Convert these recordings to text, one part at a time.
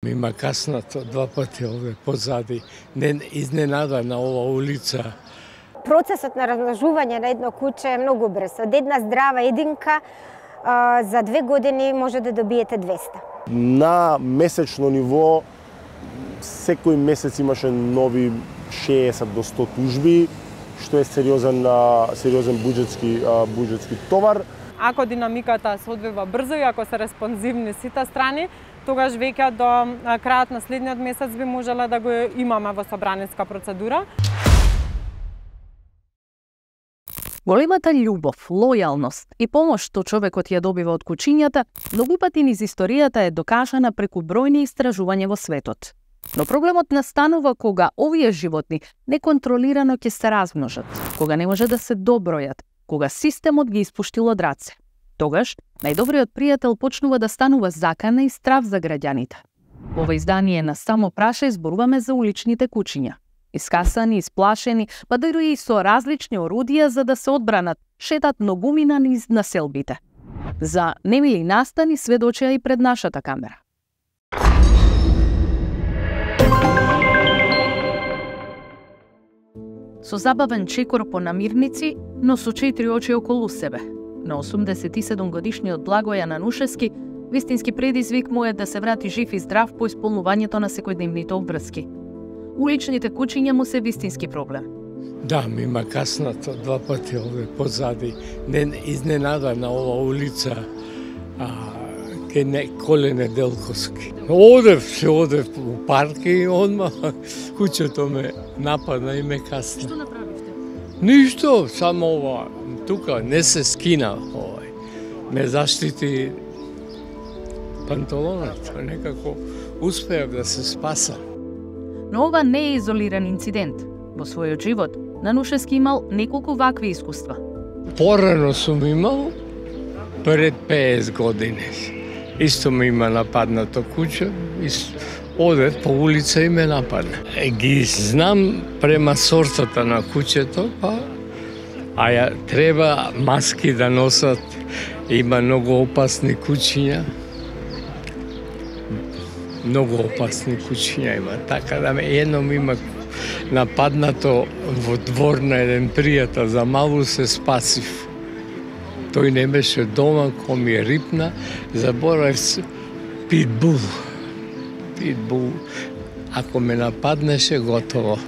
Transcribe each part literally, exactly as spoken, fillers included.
Има каснато два пати овде позади, не изненада на ова улица. Процесот на размножување на едно куче е многу брз. Од една здрава единка а, за две години може да добиете двеста. На месечно ниво секој месец имаше нови шеесет до сто тужби, што е сериозен сериозен буџетски буџетски товар. Ако динамиката се одвива брзо и ако се респонзивни сите страни, тогаш веќе до крајот на следниот месец би можеле да го имаме во собраниска процедура. Големата љубов, лојалност и помош што човекот ја добива од кучињата, многу пати низ историјата е докажана преку бројни истражувања во светот. Но проблемот настанува кога овие животни неконтролирано ќе се размножат, кога не може да се добројат, кога системот ги испуштил од раце. Тогаш, најдобриот пријател почнува да станува закана и страв за граѓаните. Ова издание на Само праша зборуваме за уличните кучиња. Искасани, исплашени, па дури и со различни орудија за да се одбранат, шетат многумина низ населбите. За немили настани сведочеа и пред нашата камера. Со забавен чекор по намирници, но со четири очи околу себе. На осумдесет и седум годишниот Благојан Анушевски, вистински предизвик му е да се врати жив и здрав по исполнувањето на секојдневните обврски. Уличните кучиња му се вистински проблем. Да, ми има каснато два пати овде позади, не изненада на ова улица, а, ке не Коле Неделковски. Одев, се одев у парк и одма кучето ме нападна и ме касна. Што направивте? Ништо, само ова, тука не се скина овај. Ме заштити панталонот, некако успеав да се спасам. Но ова не е изолиран инцидент. Во својот живот, Нанушевски имал неколку вакви искуства. Порано сум имал, пред петдесет години. Исто ми има нападнато куче, одев по улица и ме нападна. Ги знам према сортата на кучето, па, а ја треба маски да носат, има многу опасни кучиња. Многу опасни кучиња има, така да ме едно ми има нападнато во двор на еден пријател, за малу се спасив. Тој не беше дома, ко ми рипна, заборав се, питбул. Питбул, ако ме нападнеше, готово.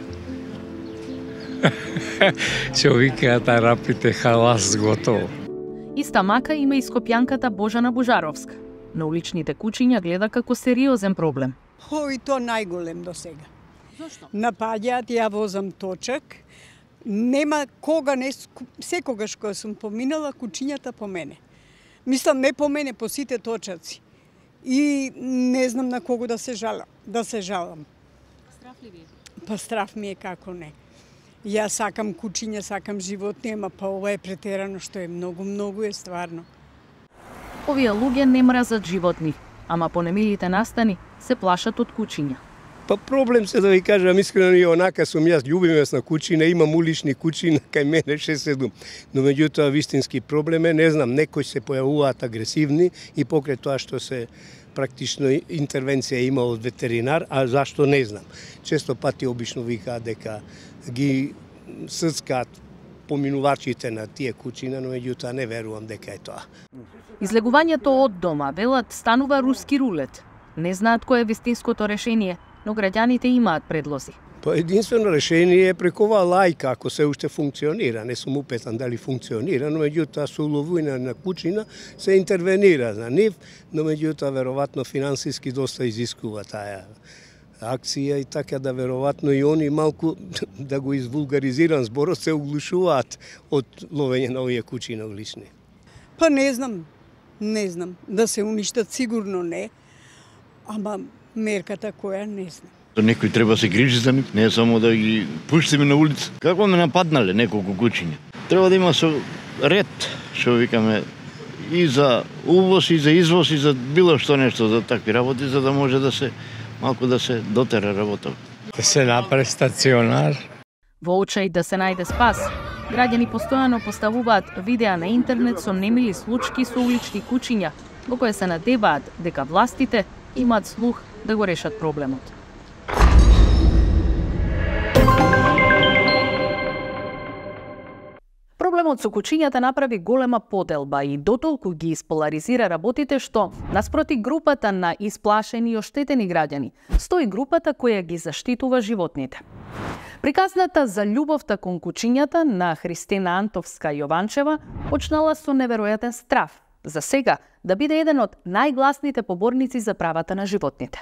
Што викаат арапите, халас, готово. Иста мака има и скопјанката Божана Божаровска. На уличните кучиња гледа како сериозен проблем. Ој, то најголем до сега. Зошто? Напаѓаат, ја возам точак. Нема кога не секогаш кога сум поминала кучињата по мене. Мислам не по мене, по сите точаци. И не знам на кого да се жалам, да се жалам. Страф ли ви? Па страф ми е како не. Ја сакам кучиња, сакам животни, ама па ова е претерано што е многу, многу е стварно. Овие луѓе не мразат животни, ама по немилите настани се плашат од кучиња. Па проблем се да ви кажам искрено и онака сум јас љубимец на кучина, имам улични кучина кај мене шест седум. Но меѓутоа вистински проблем е, не знам, некои се појавуваат агресивни и покрај тоа што се практично интервенција има од ветеринар, а зашто не знам. Често пати обично викаат дека ги сцкаат поминувачите на тие кучина, но меѓутоа не верувам дека е тоа. Излегувањето од дома, велат, станува руски рулет. Не знаат кој е вистинското решение, но граѓаните имаат предлози. Па единствено решение е преку оваа лајка, ако се уште функционира. Не сум упетан дали функционира, но меѓутоа со уловување на кучина се интервенира на нив, но меѓутоа веројатно финансиски доста изискува таа акција и така да веројатно и они малку, да го извулгаризирам зборот, се оглушуваат од ловење на овие кучина улични. Па не знам, не знам. Да се уништат сигурно не, ама мерката која не знам. Некој треба се грижи за нив, не само да ги пуштиме на улица. Како ме нападнале неколку кучиња. Треба да има со ред, што викаме, и за увоз, и за извоз, и за било што нешто за такви работи, за да може да се малку да се дотера работа. Да се направи стационар. Во очај да се најде спас, граѓани постојано поставуваат видеа на интернет со немили случаи со улични кучиња, во кои се надеваат дека властите имаат слух да го решат проблемот. Проблемот со кучињата направи голема поделба и дотолку ги исполаризира работите што, наспроти групата на исплашени и оштетени граѓани, стои групата која ги заштитува животните. Приказната за љубовта кон кучињата на Христина Антовска Јованчева почнала со неверојатен страв, за сега да биде еден од најгласните поборници за правата на животните.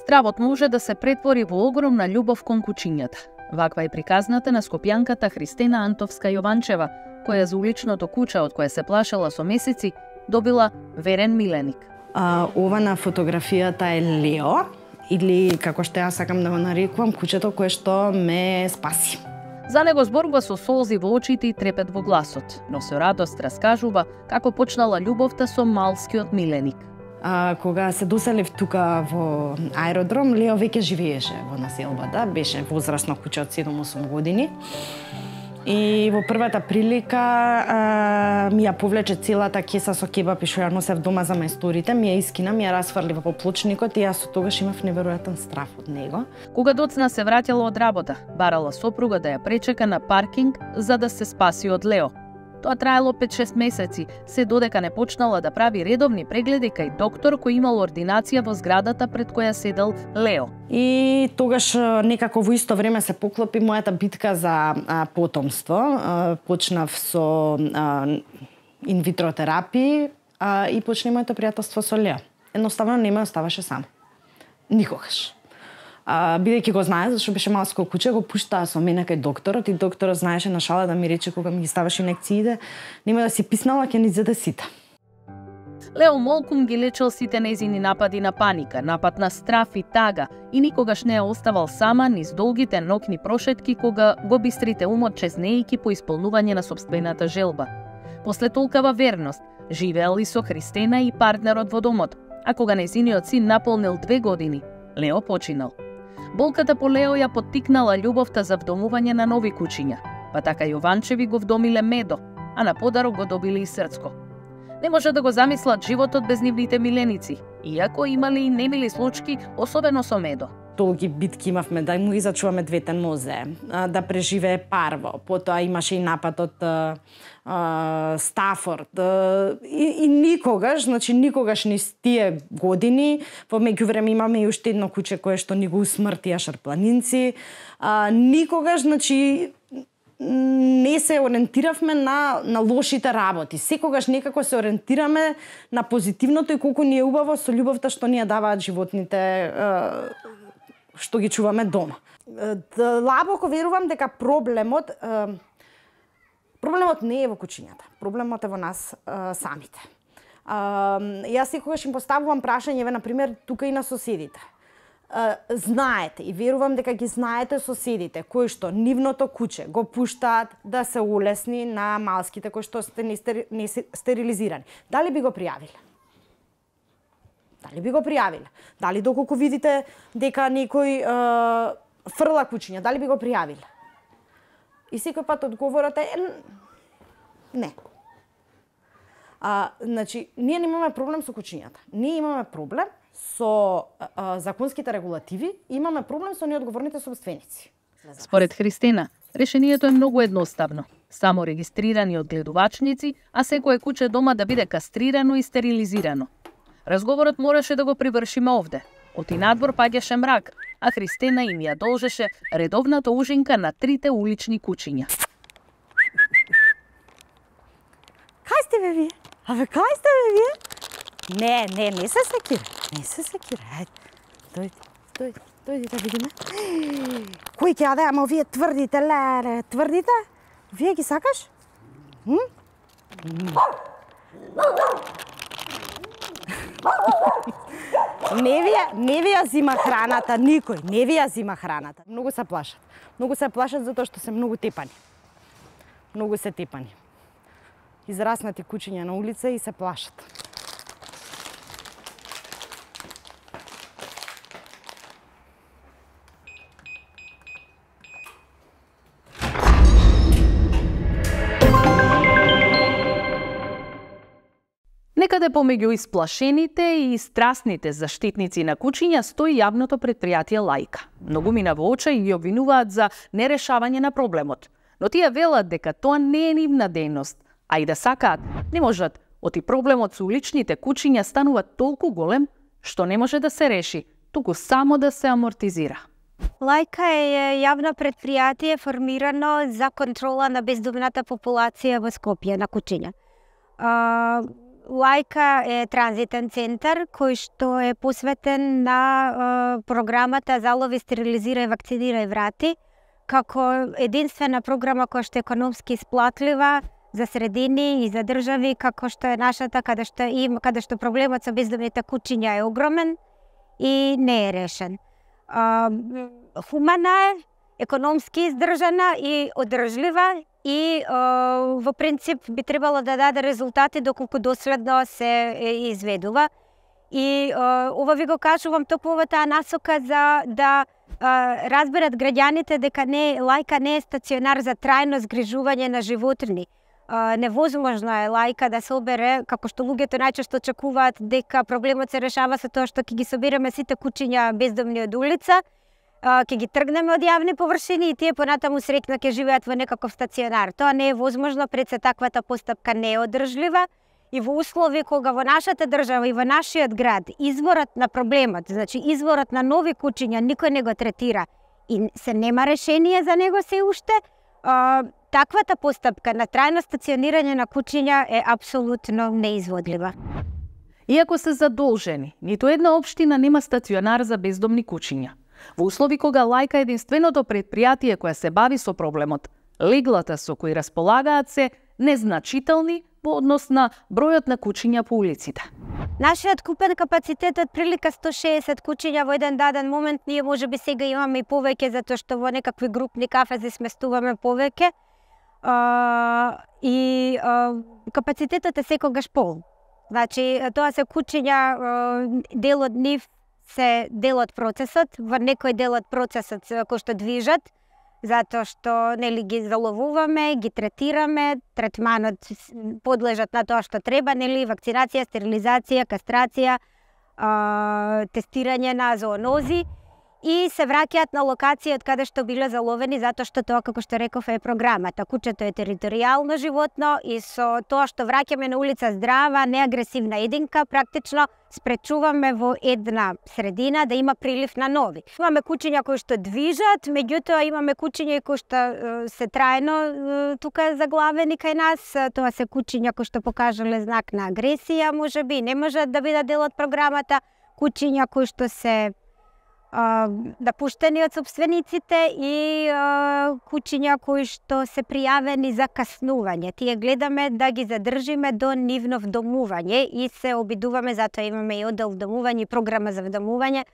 Стравот може да се претвори во огромна љубов кон кучињата. Ваква е приказната на скопјанката Христина Антовска Јованчева, која за уличното куче од кое се плашела со месеци, добила верен миленик. А, ова на фотографијата е Лео, или како што ја сакам да го нарекувам, кучето кое што ме спаси. За него зборува со солзи во очите и трепет во гласот, но со радост раскажува како почнала љубовта со малскиот миленик. А, кога се доселив тука во аеродром, Лео веќе живееше во населбата, беше возрасно куче од седум-осум години. И во првата прилика а, ми ја повлече целата кеса со кебапи што ја носев дома за мајсторите, ми ја искина, ми ја расфрли во поплочникот и јас со тогаш имав неверојатен страв од него. Кога доцна се враќала од работа, барала сопруга да ја пречека на паркинг за да се спаси од Лео. Тоа траело пет-шест месеци, се додека не почнала да прави редовни прегледи кај доктор кој имал ординација во зградата пред која седел Лео. И тогаш некако во исто време се поклопи мојата битка за а, потомство. А, почнав со инвитро терапии а, и почна моето пријателство со Лео. Едноставно не ме оставаше сам. Никогаш. А, бидејќи го знае, зашто беше малско куче, го пуштаа со мене кај докторот и докторот знаеше на шала да ми рече кога ми ги ставаше инекциите, нема да си писнала, ќе ни зеде сите. Лео молкум ги лечел сите нејзини напади на паника, напад на страф и тага и никогаш не ја оставал сама низ долгите ноќни прошетки кога го бистрите умот чезнејќи по исполнување на сопствената желба. После толкава верност, живеел и со Христина и партнерот во домот, а кога нејзиниот син наполнил две години, Лео починал. Болката по Лео ја поттикнала љубовта за вдомување на нови кучиња, па така Јованчеви го вдомиле Медо, а на подарок го добили и Срцко. Не може да го замислат животот без нивните миленици, иако имали и немили случаи, особено со Медо. Долги битки имавме да му изачуваме двете нозе, да преживее парво. Потоа имаше и напад од Стафорд. И, и никогаш, значи никогаш низ тие години, во меѓувреме имаме и уште едно куче кое што ни го усмртија шарпланинци. А, никогаш, значи, не се ориентиравме на, на лошите работи. Секогаш некако се ориентираме на позитивното и колку ни е убаво со љубовта што ни ја даваат животните што ги чуваме дома. Длабоко верувам дека проблемот проблемот не е во кучињата. Проблемот е во нас самите. Јас секогаш им поставувам прашањеве, на пример, тука и на соседите. Знаете и верувам дека ги знаете соседите кои што нивното куче го пуштаат да се улесни на малските кои што сте не стерилизирани. Дали би го пријавиле? Дали би го пријавиле? Дали доколку видите дека некој е, фрла кучиња, дали би го пријавиле? И секој пат одговорот е не. А, значи, ние немаме проблем со кучињата. Ние имаме проблем со а, законските регулативи, имаме проблем со неодговорните собственици. Според Христина, решението е многу едноставно. Само регистрирани одгледувачници, а секое куче дома да биде кастрирано и стерилизирано. Разговорот мораше да го привршиме овде. Оти надвор паѓаше мрак, а Христина им ја должеше редовната ужинка на трите улични кучиња. Кај сте бе вие? Абе, кај сте бе вие? Не, не, не се секира. Не се секира. Ајде, дојди, дојди, дојди да видиме. Кој ќе јаде, ама вие тврдите, леле, тврдите? Вие ги сакаш? М? Не ви ја, не ви ја зима храната никој, не ви ја зима храната. Многу се плашат. Многу се плашат затоа што се многу тепани. Многу се тепани. Израснати кучиња на улица и се плашат. Некаде помеѓу исплашените и страстните заштитници на кучиња стои јавното предпријатие Лајка. Многумина во очај ги обвинуваат за нерешавање на проблемот, но тие велат дека тоа не е нивна дејност, а и да сакаат, не можат, оти проблемот со уличните кучиња станува толку голем што не може да се реши, туку само да се амортизира. Лајка е јавно предпријатие формирано за контрола на бездомната популација во Скопје на кучиња. Лајка е транзитен центар кој што е посветен на програмата Залови, стерилизирај, вакцинирај, врати, како единствена програма која што е економски исплатлива за средини и за држави како што е нашата, каде што има, каде што проблемот со бездомните кучиња е огромен и не е решен. Хумана е, економски издржана и одржлива и во принцип би требало да даде резултати доколку доследно се изведува. И ова ви го кажувам токму во таа насока за да разберат граѓаните дека не Лајка не е стационар за трајно згрижување на животни. Невозможно е Лајка да се обере, како што луѓето најчесто очекуваат дека проблемот се решава со тоа што ќе ги собереме сите кучиња бездомни од улица, ќе ги тргнеме од јавни површини и тие понатаму среќно ќе живеат во некаков стационар. Тоа не е возможно, пред се таквата постапка не е одржлива и во услови кога во нашата држава и во нашиот град изворот на проблемот, значи изворот на нови кучиња никој не го третира и се нема решение за него се уште, таквата постапка на трајно стационирање на кучиња е апсолутно неизводлива. Иако се задолжени, ниту една општина нема стационар за бездомни кучиња. Во услови кога Лајка е единственото предпријатие кое се бави со проблемот, леглата со кои располагаат се незначителни по однос на бројот на кучиња по улиците. Нашиот купен капацитет од прилика сто шеесет кучиња во еден даден момент, ние можеби сега имаме и повеќе затоа што во некакви групни кафези сместуваме повеќе. Uh, и uh, капацитетот е секогаш пол. Значи, тоа се кучиња, uh, дел од нив се дел од процесот, во некој дел од процесот кој што движат, затоа што нели ги заловуваме, ги третираме, третманот подлежат на тоа што треба, нели вакцинација, стерилизација, кастрација, uh, тестирање на зоонози и се враќаат на локација од каде што биле заловени, затоа што тоа, како што реков, е програмата. Кучето е територијално животно и со тоа што враќаме на улица здрава, неагресивна единка, практично спречуваме во една средина да има прилив на нови. Имаме кучиња кои што движат, меѓутоа имаме кучиња кои што се трајно тука заглавени кај нас. Тоа се кучиња кои што покажале знак на агресија, можеби не можат да бидат дел од програмата. Кучиња кои што се да пуштени од собствениците и а, кучиња кои што се пријавени за каснување. Тие гледаме да ги задржиме до нивно вдомување и се обидуваме, затоа имаме и оддел вдомување и програма за вдомување,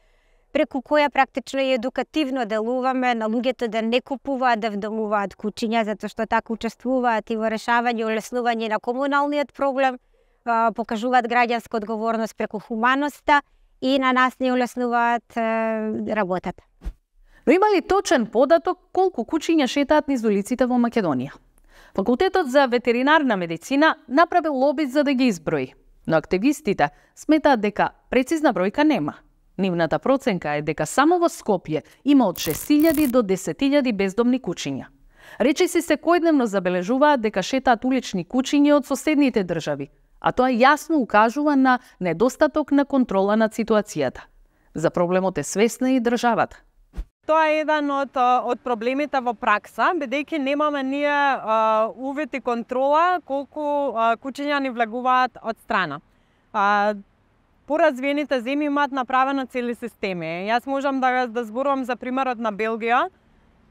преку која практично и едукативно делуваме на луѓето да не купуваат, да вдомуваат кучиња, затоа што така учествуваат и во решавање и олеснување на комуналниот проблем, а, покажуваат граѓанска одговорност преку хуманоста и на нас не улеснуваат е, работата. Но има ли точен податок колку кучиња шетаат низ улиците во Македонија? Факултетот за ветеринарна медицина направил обид за да ги изброи, но активистите сметаат дека прецизна бројка нема. Нивната проценка е дека само во Скопје има од шест илјади до десет илјади бездомни кучиња. Речиси секојдневно забележуваат дека шетаат улични кучиња од соседните држави, а тоа јасно укажува на недостаток на контрола над ситуацијата. За проблемот е свесна и државата. Тоа е еден од, од проблемите во пракса, бидејќи немаме ние а, увид и контрола колку а, кучиња ни влегуваат од страна. А, Поразвиените земји имаат направено цели системи. Јас можам да, да зборувам за примерот на Белгија,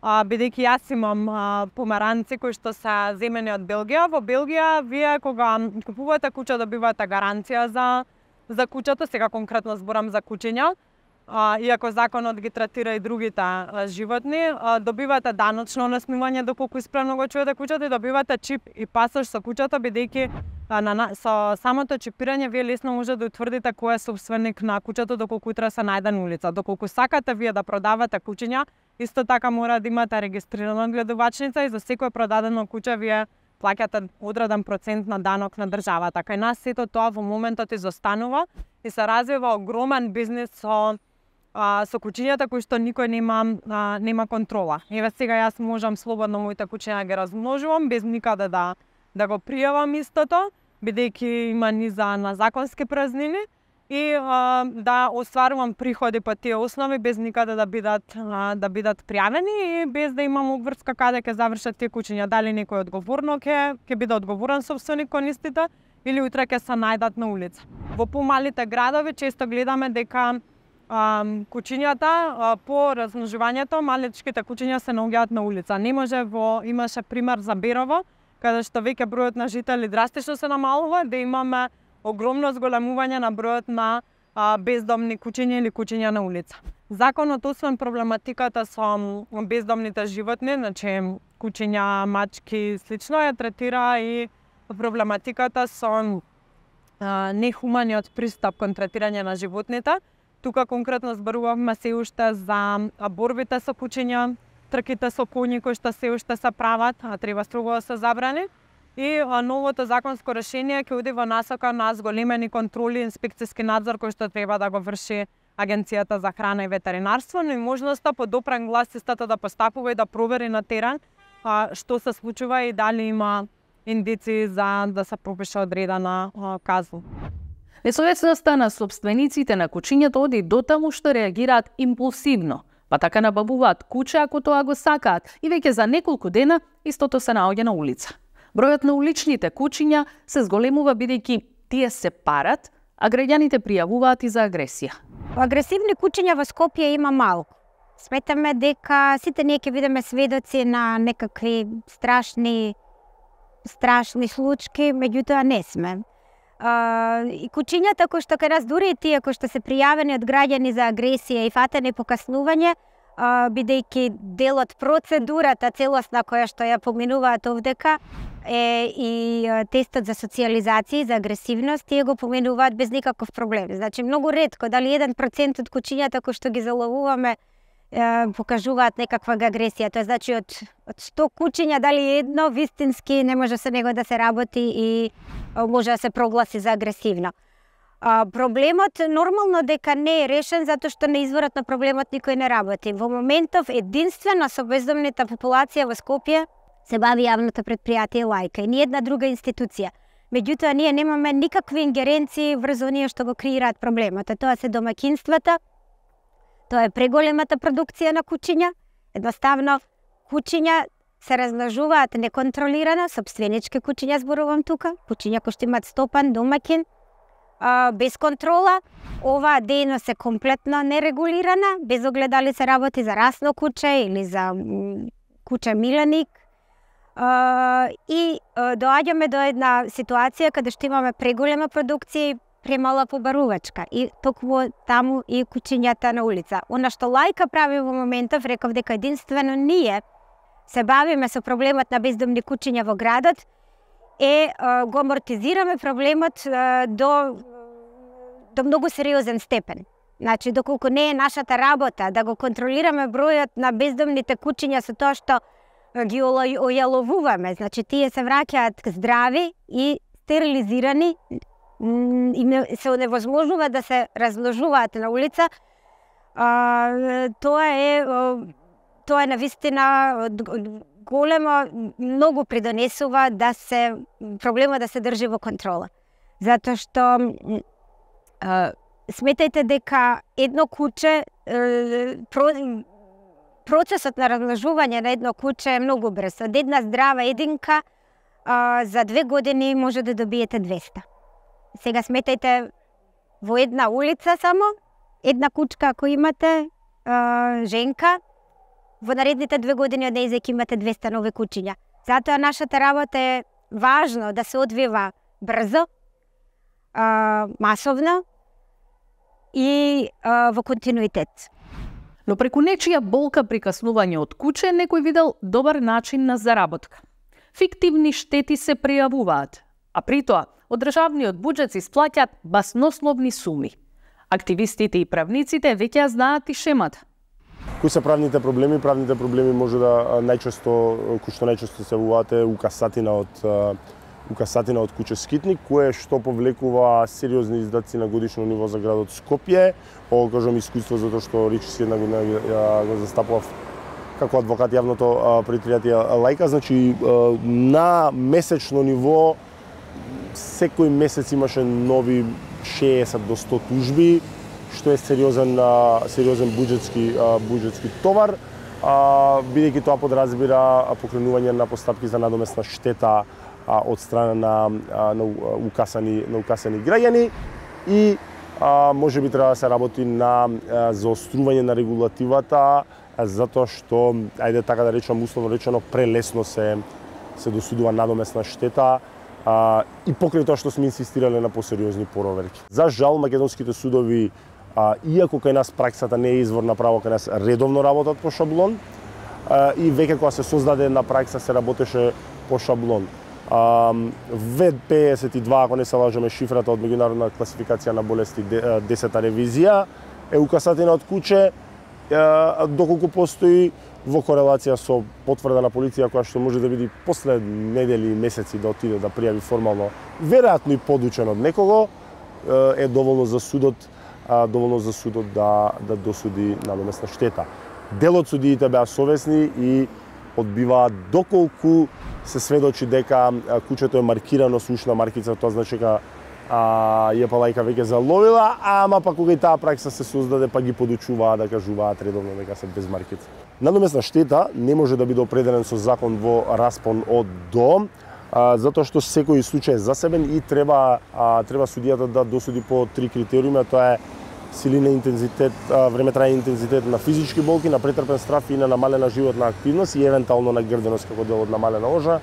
А, бидејќи јас имам а, помаранци кои што се земени од Белгија. Во Белгија, вие кога купувате куче, добивате гаранција за, за кучето, сега конкретно зборам за кучиња, а, иако законот ги третира и другите а, животни, а, добивате даночно насмивање доколку исправно го чуете кучето и добивате чип и пасош со кучето, бидејќи а, на, со самото чипирање вие лесно може да утврдите кој е собственик на кучето доколку утре се најде на улица. Доколку сакате вие да продавате кучиња, исто така мора да имате регистрирана гледувачница и за секое продадено куче вие плаќате одреден процент на данок на државата. Кај нас сето тоа во моментот изостанува и се развива огромен бизнис со а, со кучињата кои што никој нема а, нема контрола. Еве сега јас можам слободно моите кучиња ги размножувам без никаде да да го пријавам истото, бидејќи има низа на законски празнини и а, да остварувам приходи по тие основи без никаде да бидат а, да бидат пријавени и без да имам обврска каде ќе завршат тие кучиња, дали некој одговорно ќе ќе биде одговорен собственик кон истите или утре ќе се најдат на улица. Во помалите градови често гледаме дека а, кучињата а, по размножувањето, малечките кучиња се наоѓаат на улица. Не може во имаше пример за Берово, каде што веќе бројот на жители драстично се намалува, да имаме огромно зголемување на бројот на а, бездомни кучиња или кучиња на улица. Законот, освен проблематиката со бездомните животни, значи кучиња, мачки и слично, ја третира и проблематиката со а, нехуманиот пристап кон третирање на животните. Тука конкретно зборувавме се уште за борбите со кучиња, трките со коњи кои што се уште се прават, а треба строго да се забрани. И а, новото законско решение ќе оди во насока на зголемени контроли и инспекцијски надзор кој што треба да го врши Агенцијата за храна и ветеринарство, но и можноста по допрен глас истата да постапува и да провери на терен а, што се случува и дали има индици за да се пропише одредена а, казна. Несовесноста на собствениците на кучињата оди дотаму што реагираат импулсивно, па така набавуваат куче ако тоа го сакаат и веќе за неколку дена истото се наоѓа на улица. Бројот на уличните кучиња се зголемува бидејќи тие се парат, а граѓаните пријавуваат и за агресија. Агресивни кучиња во Скопје има малку. Сметаме дека сите ние ќе бидеме сведоци на некакви страшни страшни случаи, меѓутоа не сме. Uh, и кучињата кои што кај нас, дури и тие кои што се пријавени од граѓани за агресија и фатене и покаснување, uh, бидејќи дел од процедурата целосна која што ја поминуваат овдека е и uh, тестот за социјализација и за агресивност, тие го поминуваат без никаков проблем. Значи многу ретко, дали еден процент од кучињата кои што ги заловуваме uh, покажуваат некаква агресија. Тоа значи од од сто кучиња дали едно вистински не може со него да се работи и може да се прогласи за агресивно. А, проблемот нормално дека не е решен затоа што на изворот на проблемот никој не работи. Во моментов единствено со бездомната популација во Скопје се бави јавното предпријатие Лајка и ни една друга институција. Меѓутоа ние немаме никакви ингеренции врз оние што го креираат проблемот. А тоа се домакинствата, тоа е преголемата продукција на кучиња. Едноставно кучиња се размножуваат неконтролирано, собственички кучиња зборувам тука, кучиња кои што имаат стопан, домакин, а, без контрола. Оваа дејност е комплетно нерегулирана, без оглед дали се работи за расно куче или за куче миленик. А, и а, доаѓаме до една ситуација каде што имаме преголема продукција и премала побарувачка. И токму таму и кучињата на улица. Она што Лајка прави во моментов, реков дека единствено ние се бавиме со проблемот на бездомни кучиња во градот, е го амортизираме проблемот до до многу сериозен степен. Значи, доколку не е нашата работа да го контролираме бројот на бездомните кучиња со тоа што ги ојаловуваме, значи тие се враќаат здрави и стерилизирани и се невозможува да се размножуваат на улица, а, тоа е тоа е навистина големо, многу придонесува да се проблема да се држи во контрола. Затоа што а, сметајте дека едно куче, про, процесот на размножување на едно куче е многу брз. Од една здрава единка а, за две години може да добиете двеста. Сега сметајте во една улица само, една кучка ако имате, а, женка, во наредните две години од нејзе ќе имате двеста нови кучиња. Затоа нашата работа е важно да се одвива брзо, а, масовно и а, во континуитет. Но преку нечија болка прикаснување од куче, некој видел добар начин на заработка. Фиктивни штети се пријавуваат, а при тоа од државниот буџет се исплаќаат баснословни суми. Активистите и правниците веќе ја знаат и шемата. Кои се правните проблеми? Правните проблеми може да најчесто, кои што најчесто се јавуваат е укасатина од укасатина од куќе Скитник, кое што повлекува сериозни издатци на годишно ниво за градот Скопје. Ово кажам искуство затоа што речиси една година го застапував како адвокат јавното предпријатие Лајка. Значи на месечно ниво секој месец имаше нови шеесет до сто тужби, што е сериозен сериозен буџетски буџетски товар, бидејќи тоа подразбира покренување на постапки за надоместна штета од страна на, на укасани на укасани граѓани и а, може би треба да се работи на заострување на регулативата, затоа што, ајде така да речам условно речено, прелесно се се досудува надоместна штета а, и покрај тоа што сме инсистирале на посериозни проверки. За жал македонските судови, а, иако кај нас праксата не е извор на право, кај нас редовно работат по шаблон а, и веќе кога се создаде една пракса се работеше по шаблон. В пеесет и два, ако не се лажеме, шифрата од меѓународна класификација на болести, десета ревизија, е укасатина од куќе, доколку постои во корелација со потврда на полиција која што може да биде после недели и месеци да отиде да пријави формално, веројатно и подучен од некого, е доволно за судот, доволно за судот да да досуди надоместна штета. Дел од судиите беа совесни и одбиваат доколку се сведочи дека куќето е маркирано со ушна маркица, тоа значи дека Јепа Лајка веќе заловила, ама па кога и таа пракса се создаде, па ги подучуваат да кажуваат редовно дека се без маркица. Надоместна штета не може да биде определен со закон во распон од до, затоа што секој случај е засебен и треба треба судијата да досуди по три критериуми, тоа е силина, интензитет, време трајање интензитет на физички болки, на претрпен страф и на намалена животна активност и евентуално на грденост како дел од намалена ожа.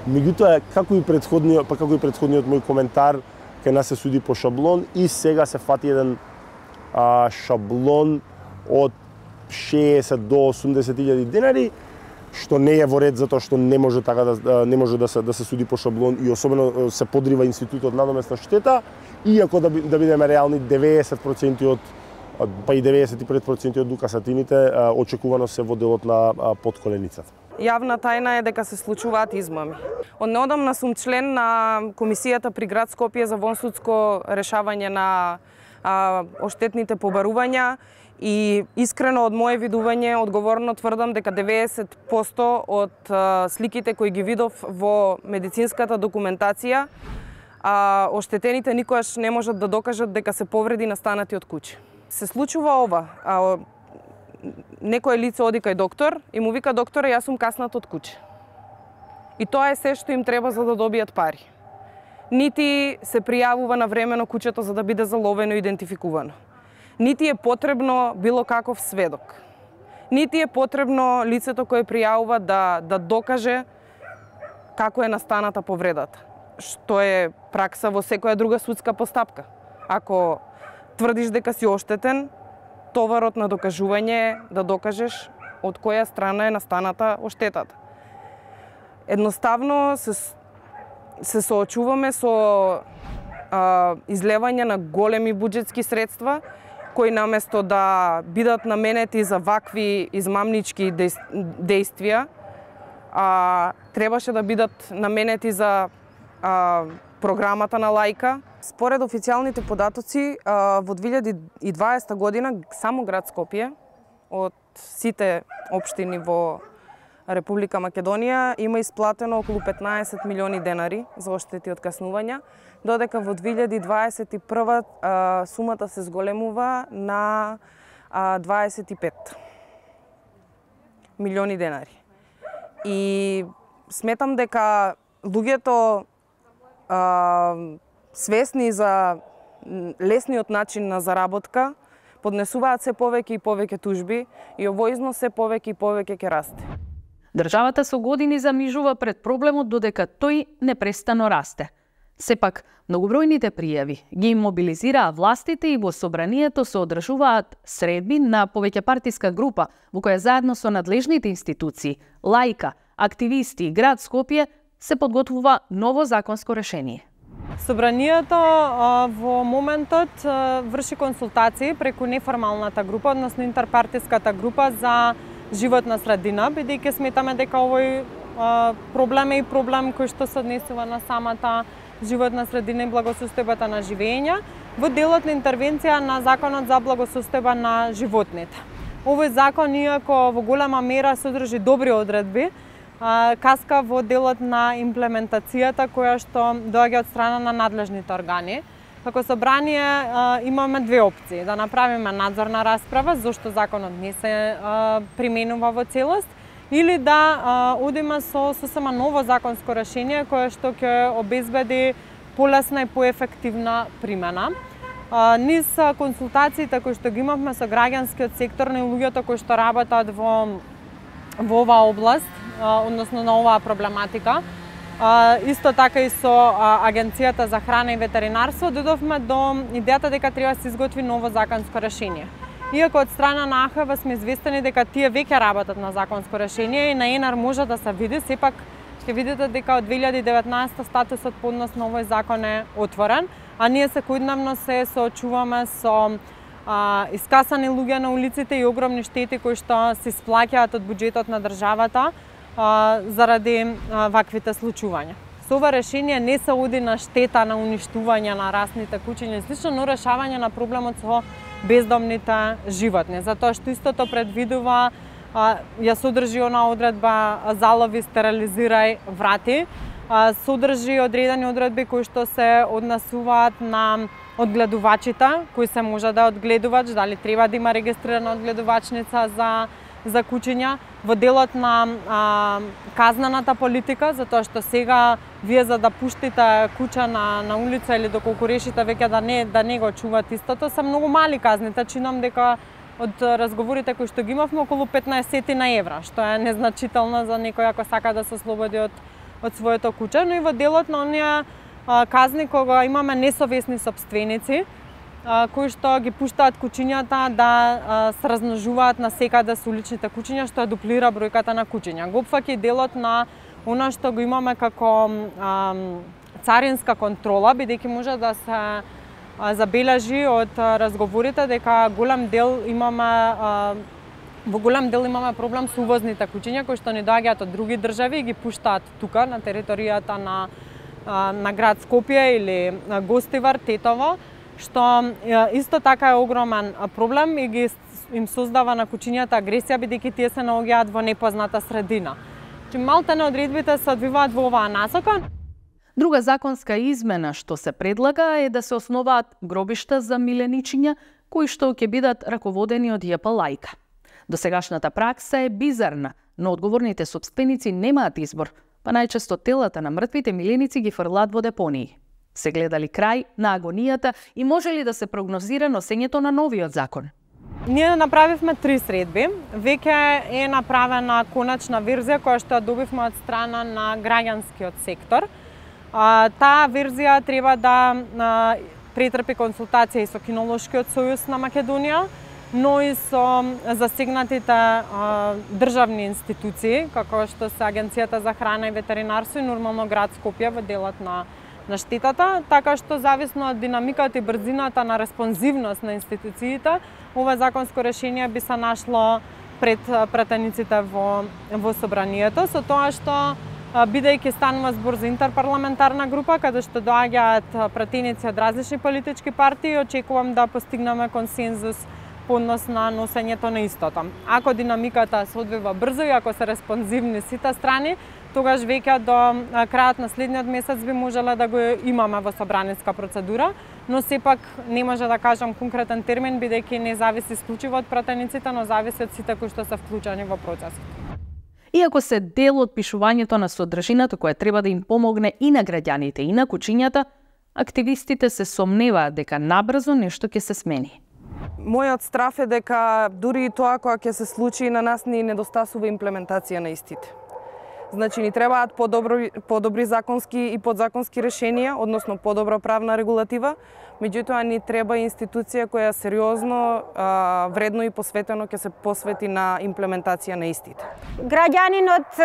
Меѓутоа, како и претходниот, па како и претходниот мој коментар, кај нас се суди по шаблон и сега се фати еден а, шаблон од шеесет до осумдесет илјади денари, што не е во ред затоа што не може така да не може да се да се суди по шаблон и особено се подрива институтот надоместна штета, иако да, да бидеме реални, деветдесет проценти од па и деветдесет и пет проценти од укасатините очекувано се во делот на подколеницата. Јавна тајна е дека се случуваат измами. Од неодамна сум член на комисијата при град Скопје за вонсудско решавање на а, оштетните побарувања и искрено од моje видување одговорно тврдам дека деветдесет проценти од а, сликите кои ги видов во медицинската документација, а оштетените никогаш не можат да докажат дека се повреди настанати од куќи. Се случува ова. А, некое лице оди кај доктор и му вика: докторе, јас сум каснат од куќе. И тоа е се што им треба за да добијат пари. Нити се пријавува на времено куќето за да биде заловено и идентификувано. Нити е потребно било каков сведок. Нити е потребно лицето кое пријавува да, да докаже како е настаната повредата, што е пракса во секоја друга судска постапка. Ако тврдиш дека си оштетен, товарот на докажување е да докажеш од која страна е настаната оштетата. Едноставно се, се соочуваме со а, излевање на големи буџетски средства, кои наместо да бидат наменети за вакви измамнички действија, а, требаше да бидат наменети за а, програмата на Лајка. Според официјалните податоци, во две илјади и дваесета година само град Скопје од сите општини во Република Македонија има исплатено околу петнаесет милиони денари за оштети од каснувања, додека во две илјади дваесет и прва сумата се зголемува на дваесет и пет милиони денари. И сметам дека луѓето а, свесни за лесниот начин на заработка поднесуваат се повеќе и повеќе тужби и овој износ се повеќе и повеќе ќе расте. Државата со години замижува пред проблемот додека тој непрестано расте. Сепак, многобројните пријави ги имобилизираа властите и во собранието се одржуваат средби на повеќепартиска група во која заедно со надлежните институции, Лајка, активисти и град Скопје се подготвува ново законско решение. Собранието во моментот врши консултации преку неформалната група, односно интерпартиската група за животна средина, бидејќи сметаме дека овој проблем е и проблем кој што се однесува на самата животна средина и благосостојбата на живење во делот на интервенција на Законот за благосостојба на животните. Овој закон, иако во голема мера содржи добри одредби, каска во делот на имплементацијата која што доаѓа од страна на надлежните органи. Како собрание имаме две опции: да направиме надзорна расправа зошто законот не се применува во целост, или да одиме со сосема ново законско решение кое што ќе обезбеди полесна и поефективна примена. Низ консултациите кои што ги имавме со граѓанскиот сектор и луѓето кои што работат во во оваа област, односно на оваа проблематика, исто така и со Агенцијата за храна и ветеринарство, додовме до идејата дека треба да се изготви ново законско решение. Иако од страна на А Х В сме известени дека тие веќе работат на законско решение и на ЕНАР може да се види, сепак ќе видите дека од две илјади и деветнаесетта статусот по однос на овој закон е отворен, а ние секојдневно се соочуваме со а, искасани луѓе на улиците и огромни штети кои што се исплаќаат од буџетот на државата а, заради а, ваквите случувања. Со ова решение не се оди на штета на уништување на расните кучиња и слично, но решавање на проблемот со бездомните животни, затоа што истото предвидува, а, ја содржи она одредба залови, стерилизирај, врати, а, содржи одредени одредби кои што се однесуваат на одгледувачите, кои се може да одгледувач, дали треба да има регистрирана одгледувачница за за кучиња, во делот на а, казнената политика, затоа што сега вие за да пуштите куча на на улица или доколку решите веќе да не да не го чуват истото, се многу мали казните. Чинам дека од разговорите кои што ги имавме околу петнаесет на евра, што е незначително за некој ако сака да се ослободи од од своето куче, но и во делот на оние а, казни кога имаме несовесни сопственици, кои што ги пуштаат кучињата да а, се размножуваат на секаде со уличните кучиња, што ја дуплира бројката на кучиња. Го опфаќа и делот на она што го имаме како а, царинска контрола, бидејќи може да се а, забележи од а, разговорите дека голем дел имаме а, во голем дел имаме проблем со увозните кучиња кои што ни доаѓаат од други држави и ги пуштаат тука на територијата на а, на град Скопје или на Гостивар, Тетово, што исто така е огромен проблем и ги им создава на кучињата агресија, бидејќи тие се наоѓаат во непозната средина. Чи малтене одредбите се одвиваат во оваа насока. Друга законска измена што се предлага е да се основаат гробишта за миленичиња кои што ќе бидат раководени од Ј П лајка. Досегашната пракса е бизарна, но одговорните сопственици немаат избор, па најчесто телата на мртвите миленици ги фрлаат во депонии. Се гледали крај на агонијата и може ли да се прогнозира носењето на новиот закон? Ние направивме три средби. Веќе е направена коначна верзија која што ја добивме од страна на граѓанскиот сектор. А, таа верзија треба да а, претрпи консултација и со Кинолошкиот сојуз на Македонија, но и со засегнатите а, државни институции, како што се Агенцијата за храна и ветеринарство и нормално град Скопје во делот на на штетата, така што зависно од динамиката и брзината на респонзивност на институциите, ова законско решение би се нашло пред пратениците во во собранието, со тоа што бидејќи станува збор за интерпарламентарна група каде што доаѓаат пратеници од различни политички партии, очекувам да постигнеме консензус по однос на носењето на истото. Ако динамиката се одвива брзо и ако се респонзивни сите страни, тогаш веќе до крајот на следниот месец би можеле да го имаме во собраниска процедура, но сепак не може да кажам конкретен термин, бидејќи не зависи исклучиво од пратениците, но зависи од сите кои што се вклучени во процесот. Иако се дел од пишувањето на содржината која треба да им помогне и на граѓаните и на кучињата, активистите се сомневаат дека набрзо нешто ќе се смени. Мојот страф е дека дури и тоа кога ќе се случи на нас ни недостасува имплементација на истите. Значи ни требаат подобри, подобри законски и подзаконски решенија, односно подобра правна регулатива, меѓутоа ни треба институција која сериозно, а, вредно и посветено ќе се посвети на имплементација на истите. Граѓанинот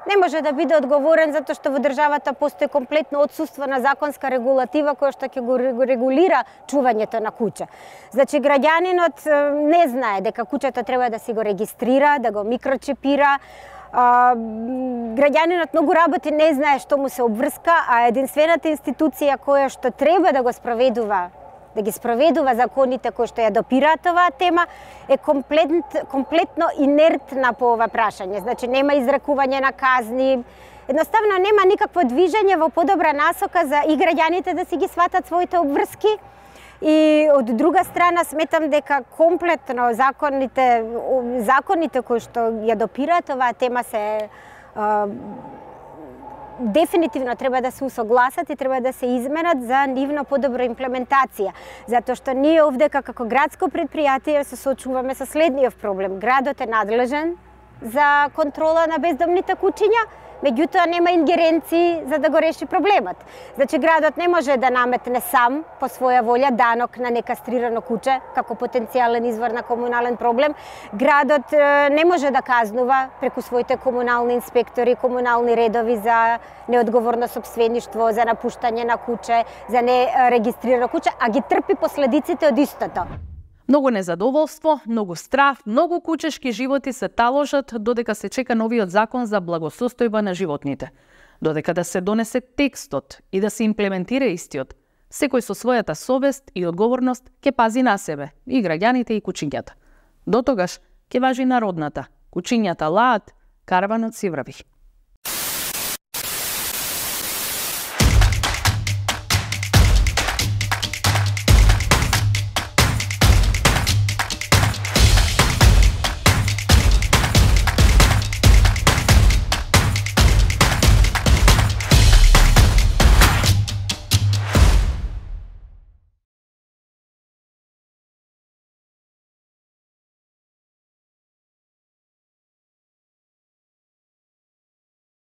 не може да биде одговорен затоа што во државата постои комплетно отсуство на законска регулатива која што ќе го регулира чувањето на куќа. Значи граѓанинот не знае дека куќата треба да си го регистрира, да го микрочипира. А, граѓанинот многу работи не знае што му се обврска, а единствената институција која што треба да го спроведува да ги спроведува законите кои што ја допираат оваа тема, е комплет, комплетно инертна по ова прашање. Значи, нема изрекување на казни, едноставно нема никакво движење во подобра насока за и граѓаните да си ги сватат своите обврски. И од друга страна сметам дека комплетно законите, законите кои што ја допираат оваа тема се дефинитивно треба да се усогласат и треба да се изменат за нивно подобра имплементација. Затоа што ние овдека како градско предпријатие се соочуваме со следниот проблем. Градот е надлежен за контрола на бездомните куќиња, меѓутоа нема ингеренции за да го реши проблемот. Значи градот не може да наметне сам по своја волја данок на некастрирано куче како потенцијален извор на комунален проблем. Градот не може да казнува преку своите комунални инспектори, комунални редови за неодговорно сопствеништво, за напуштање на куче, за нерегистрирано куче, а ги трпи последиците од истото. Многу незадоволство, многу страф, многу кучешки животи се таложат додека се чека новиот закон за благосостојба на животните. Додека да се донесе текстот и да се имплементира истиот, секој со својата совест и одговорност ќе пази на себе, и граѓаните и кучињата. До тогаш ќе важи народната, кучињата лаат, караванот си врви.